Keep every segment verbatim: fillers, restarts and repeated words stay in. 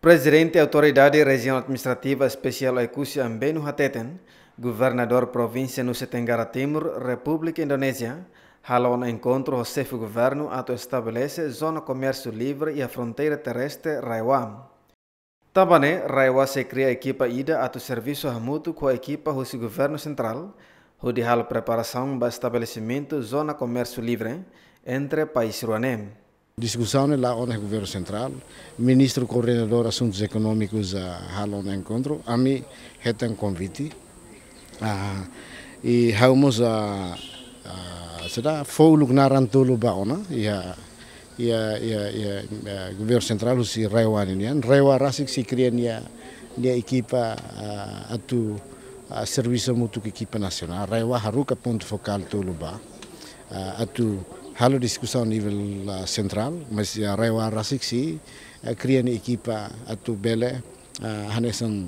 Prezidente Autoridade Rejiaun Administrativa Espesiál Oekusi Ambenu hateten, Governadór Provínsia Nusa Tenggara Timur, Repúblika Indonézia, halo ona enkontru ho xefe governu atu estabelese zona komérsiu livre iha fronteira terrestre RAEOA. Tanba ne'e, RAEOA sei kria ekipa ida atu servisu hamutuk ho ekipa husi governu sentrál, hodi halo preparasaun ba estabelesimentu zona komérsiu livre entre país rua ne'e. Diskusaun ne'e la'o ona iha governu sentrál, ministru koordenadór asuntus ekonómikus, ah, halo ona enkontru, ami hetan konvite. Ah, i ha'u mós, ah, ah, sira fó uluk naran tolu ba ona, iha, iha, iha, iha, eh, governu sentrál husi RAEOA nian. RAEOA rasik sei kria nia, nia ekipa, ah, atu, ah, servisu hamutuk ho ekipa nasionál. RAEOA haruka pontu fokál tolu ba, ah, atu halo diskusaun nivel, ah, sentrál, mas, ah, RAEOA rasik sei, ah, kria nia ekipa atu bele, ah, hanesan,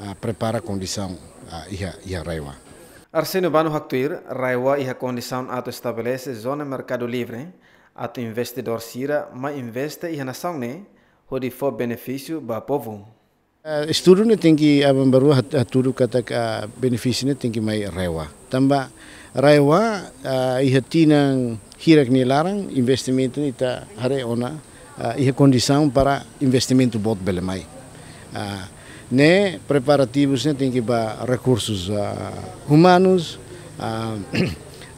ah, prepara kondisaun, ah, iha, iha RAEOA. Arsénio Bano haktuir, RAEOA iha kondisaun atu estabelese zona merkadu livre, atu investidór sira mai investe iha nasaun ne'e, hodi fó benefísiu ba povu. Ah, estudu ne'e tenke aban-bainrua hat-, hatudu katak, ah, benefísiu ne'e tenke mai RAEOA. Tanba RAEOA, ah, iha tinan hirak nia laran, investimentu ne'e ita haree ona, ah, iha kondisaun para investimentu boot bele mai. Ah, ne'e preparativus ne'e tenke ba rekursus, ah, umanus, ah,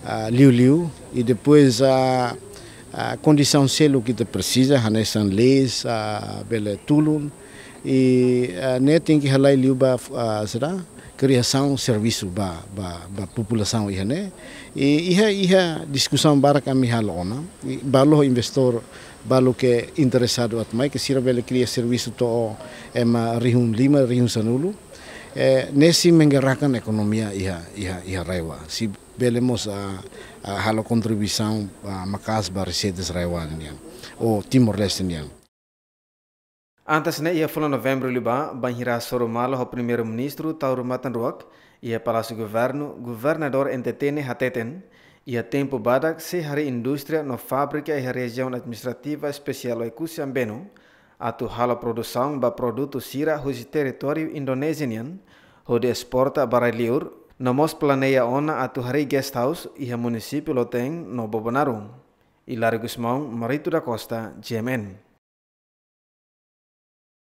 ah, liuliu, i depois, ah, ah, kondisaun seluk ita presiza, hanesan leis, ah, bele tulun, i, ah, ne'e tenke halai liu ba, ah, sira, kriasaun servisu ba, ba, ba populasaun iha ne'e. I iha, iha diskusaun barak ami halo ona, i balu ho investór, balu ke interesadu atu mai, ke sira bele kria servisu to'o ema rihun lima, rihun sanulu. Eh, ne'e sei menggerakkan ekonomia iha, iha, iha RAEOA. Sei bele mós, ah, ah, halo kontribuisaun, ah, maka'as ba reseitas RAEOA nian, ou Timor-Leste nian. Antes ne'e, iha fulan Novembru liubá, bainhira hasoru malu ho Primeiru-Ministru Taur Matan Ruak iha Palásiu Governu, Governadór N T T ne'e hateten, iha tempu badak sei harii indústria no fábrika iha Rejiaun Administrativa Espesiál Oekusi Ambenu, atu halo produsaun ba produtu sira husi territóriu Indonézia nian, hodi esporta ba rai-liur, no mós planeia ona atu harii guest house iha munisípiu Loteng no Bobonaro. Hilário Gusmão, Marito da Costa, G M N.